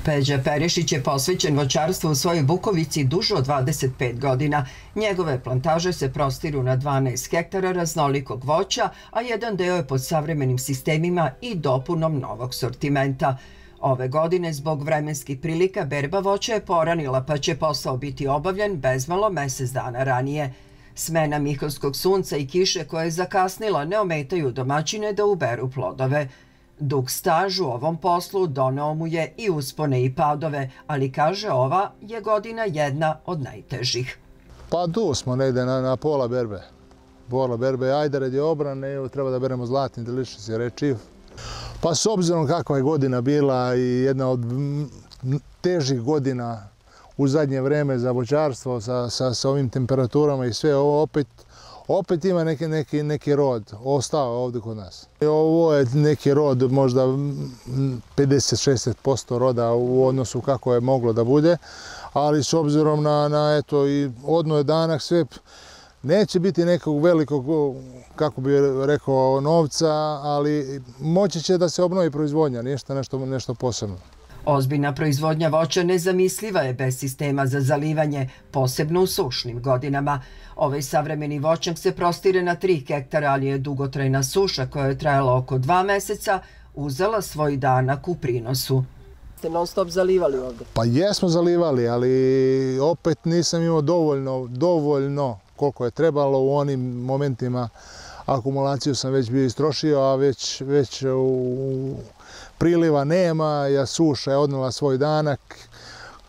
Peđa Perišić je posvećen voćarstvu u svojoj Bukovici duže od 25 godina. Njegove plantaže se prostiru na 12 hektara raznolikog voća, a jedan deo je pod savremenim sistemima i dopunom novog sortimenta. Ove godine, zbog vremenskih prilika, berba voća je poranila, pa će posao biti obavljen bezmalo mesec dana ranije. Smena Mihovskog sunca i kiše koja je zakasnila ne ometaju domaćine da uberu plodove. Dug staž u ovom poslu doneo mu je i uspone i padove, ali kaže ova je godina jedna od najtežih. Pa tu smo negde na pola berbe. Pola berbe, ajde radi obrane, treba da beremo zlatni delicious rečiv. Pa s obzirom kakva je godina bila i jedna od težih godina u zadnje vreme za voćarstvo sa ovim temperaturama i sve ovo opet ima neki rod, ostao ovdje kod nas. Ovo je neki rod, možda 50-60% roda u odnosu kako je moglo da bude, ali s obzirom na eto i odno je danak sve, neće biti nekog velikog, kako bi rekao, novca, ali moći će da se obnovi proizvodnja, nešto posebno. Ozbiljna proizvodnja voća nezamisliva je bez sistema za zalivanje, posebno u sušnim godinama. Ovaj savremeni voćnjak se prostire na 3 hektara, ali je dugotrajna suša koja je trajala oko 2 meseca uzela svoj danak u prinosu. Ste non stop zalivali ovdje? Pa jesmo zalivali, ali opet nisam imao dovoljno koliko je trebalo u onim momentima. Akumulaciju sam već bio istrošio, a već priliva nema, suša je odnela svoj danak.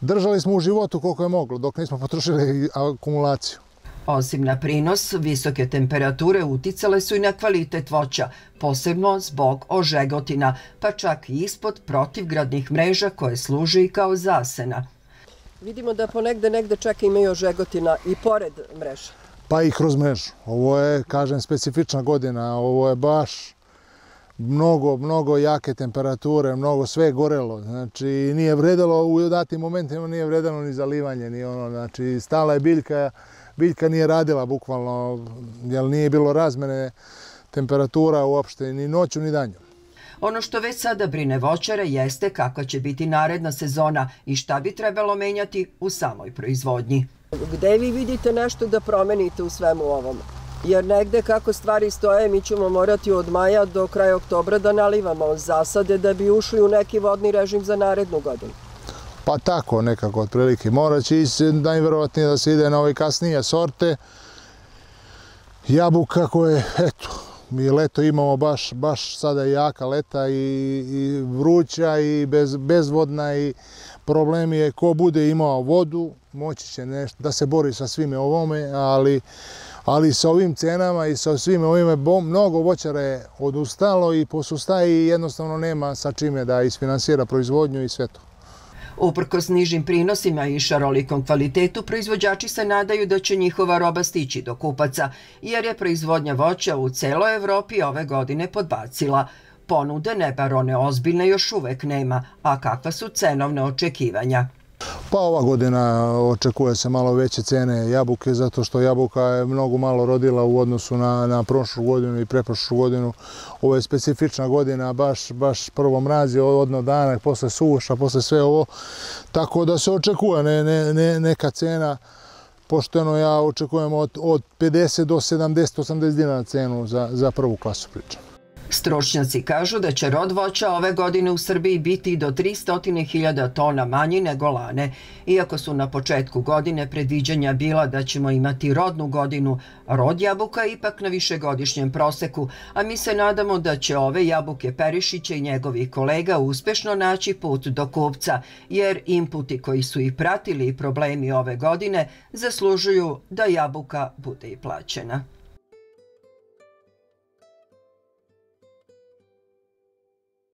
Držali smo u životu koliko je moglo, dok nismo potrošili akumulaciju. Osim na prinos, visoke temperature uticale su i na kvalitet voća, posebno zbog ožegotina, pa čak i ispod protivgradnih mreža koje služe i kao zasena. Vidimo da negde čak imaju ožegotina i pored mreža. Pa i kroz mrežu. Ovo je, kažem, specifična godina. Ovo je baš mnogo jake temperature, mnogo sve gorelo. Znači, nije vredelo, u datim momentima nije vredelo ni zalivanje, ni ono. Znači, stala je biljka nije radila bukvalno, jer nije bilo razmene temperatura uopšte, ni noću, ni danju. Ono što već sada brine voćare jeste kakva će biti naredna sezona i šta bi trebalo menjati u samoj proizvodnji. Gde vi vidite nešto da promenite u svemu ovom? Jer negde kako stvari stoje, mi ćemo morati od maja do kraja oktobra da nalivamo zasade da bi ušli u neki vodni režim za narednu godinu. Pa tako nekako otprilike. Morat će najverovatnije da se ide na ove kasnije sorte. Jabuka koje, eto, mi leto imamo baš sada jaka leta i vruća i bezvodna i problem je ko bude imao vodu, moći će nešto da se bori sa svime ovome, ali sa ovim cenama i sa svime ovime mnogo voćara je odustalo i posustaje i jednostavno nema sa čime da isfinansira proizvodnju i sve to. Uprkos nižim prinosima i šarolikom kvalitetu, proizvođači se nadaju da će njihova roba stići do kupaca, jer je proizvodnja voća u celoj Evropi ove godine podbacila. Ponude, ne bar one ozbiljne, još uvek nema, a kakva su cenovne očekivanja? Pa ova godina očekuje se malo veće cene jabuke, zato što jabuka je mnogo malo rodila u odnosu na prošlu godinu i preprošlu godinu. Ovo je specifična godina, baš prvo mraz je odno danak, posle suša, posle sve ovo. Tako da se očekuje neka cena, pošteno ja očekujem od 50 do 70-80 dinara cenu za prvu klasu pričam. Stručnjaci kažu da će rod voća ove godine u Srbiji biti do 300.000 tona manji nego lane. Iako su na početku godine predviđanja bila da ćemo imati rodnu godinu, rod jabuka je ipak na višegodišnjem proseku, a mi se nadamo da će ove jabuke Perišića i njegovih kolega uspešno naći put do kupca, jer inputi koji su ih pratili i problemi ove godine zaslužuju da jabuka bude i plaćena.